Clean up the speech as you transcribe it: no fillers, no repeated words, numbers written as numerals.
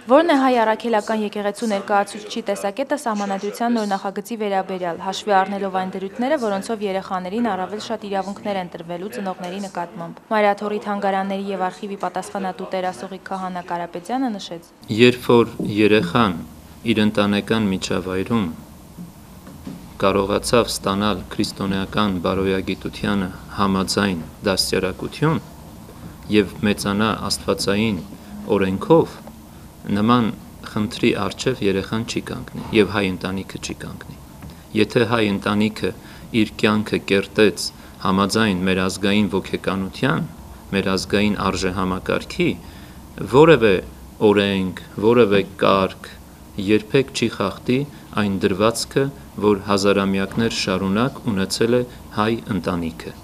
Որն է հայ առաքելական եկեղեցու ներկայացուցչի տեսակետը սահմանադրության նոր նախագծի վերաբերյալ, հաշվի առնելով այն դրույթները, որոնցով երեխաներին առավել շատ իրավունքներ են տրվելու ծնողների նկատմամբ։ Մայրաթորի թանգարանների եւ արխիվի պատասխանատու Տեր Ասողիկ Քահանա Կարապետյանը նշեց. Երբ որ երեխան իր ընտանեկան միջավայրում կարողացավ ստանալ քրիստոնեական բարոյագիտությանը համաձայն դաստիարակություն եւ մեծանա աստվածային օրենքով, նման խնդրի առջև երեխան չի կանգնի եւ հայ ընտանիքը չի կանգնի։ Եթե հայ ընտանիքը իր կյանքը կերտեց համաձայն մեր ազգային ոգեկանության, մեր ազգային արժեհամակարգի, որևէ օրենք, որևէ կարգ երբեք չի խախտի այն դրվածքը, որ հազարամյակներ շարունակ ունեցել է հայ ընտանիքը։